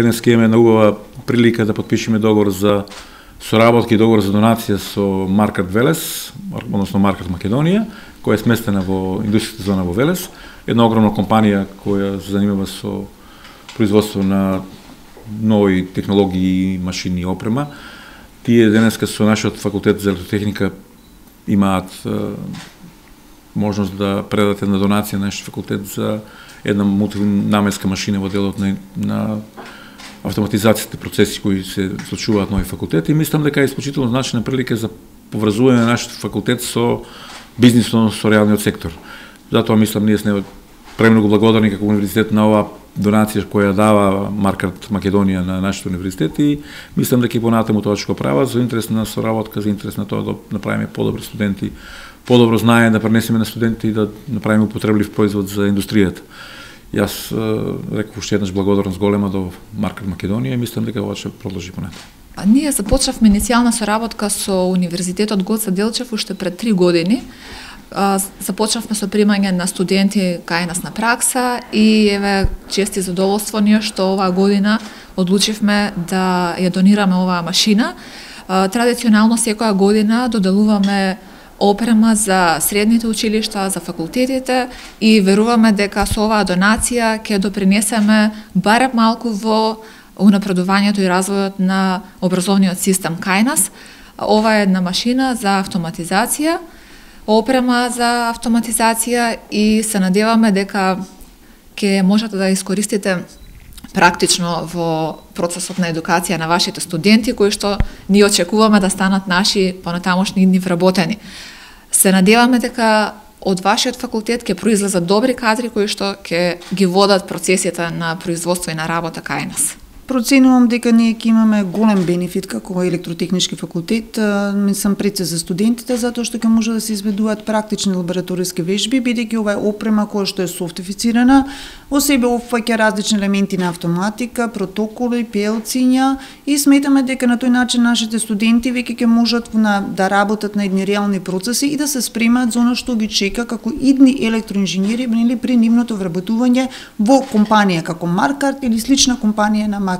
денес имаме една убава прилика да подпишеме договор за соработка и договор за донација со Маркарт Велес, односно Маркарт Македонија, која е сместена во индустријската зона во Велес, една огромна компанија која се занимава со производство на нови технологии, машини и опрема. Тие денеска со нашиот факултет за електротехника имаат можност да предадат една донација на нашиот факултет за една мултинаменска машина во делот на автоматизацијата процеси кои се случуваат на овој факултет, и мислам дека е исклучително значајна прилика за поврзување на нашиот факултет со бизнисот, со реалниот сектор. Затоа мислам ние сме премногу благодарни како универзитет на оваа донација која дава Маркарт Македонија на нашиот универзитет, и мислам дека и понатаму тоа ќе го прават за интерес на соработка, за интерес на тоа да направиме подобри студенти, подобро знание да пренесеме на студентите и да направиме употреблив производ за индустријата. Јас реков уште еднаш благодарност голема до Маркарт Македонија и мислам дека ова ќе продолжи понатаму. Ние започнавме иницијална соработка со Универзитетот Гоце Делчев уште пред 3 години. Започнавме со примање на студенти кај нас на пракса и еве чести задоволство ние што оваа година одлучивме да ја донираме оваа машина. Традиционално секоја година доделуваме опрема за средните училишта, за факултетите, и веруваме дека со оваа донација ќе допринесеме барем малку во унапредувањето и развојот на образовниот систем кај нас. Ова е една машина за автоматизација, опрема за автоматизација, и се надеваме дека ќе можете да искористите практично во процесот на едукација на вашите студенти, кои што ние очекуваме да станат наши понатамошни идни вработени. Се надеваме дека од вашиот факултет ќе произлезат добри кадри кои што ќе ги водат процесите на производство и на работа кај нас. Проценувам дека ние ќе имаме голем бенефит како електротехнички факултет, мислам пред се за студентите, затоа што ќе може да се изведуваат практични лабораториски вежби, бидејќи ова е опрема која што е софтифицирана, во себе опфаќа различни елементи на автоматика, протоколи, PLC-ња, и сметаме дека на тој начин нашите студенти веќе ќе можат да работат на едни реални процеси и да се спремаат за она што ги чека како идни електроинженери при нивното вработување во компанија како Маркарт или слична компанија на Маркарт.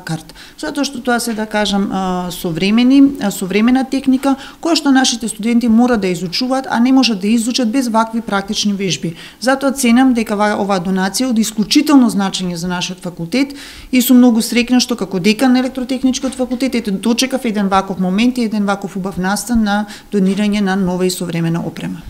Затоа што тоа се, да кажам, современа техника која што нашите студенти мора да изучуваат, а не можат да изучат без вакви практични вежби. Затоа ценам дека оваа донација од исклучително значење за нашиот факултет и сум многу среќна што како декан на електротехничкиот факултет дочекав еден ваков момент и еден ваков убав настан на донирање на нова и современа опрема.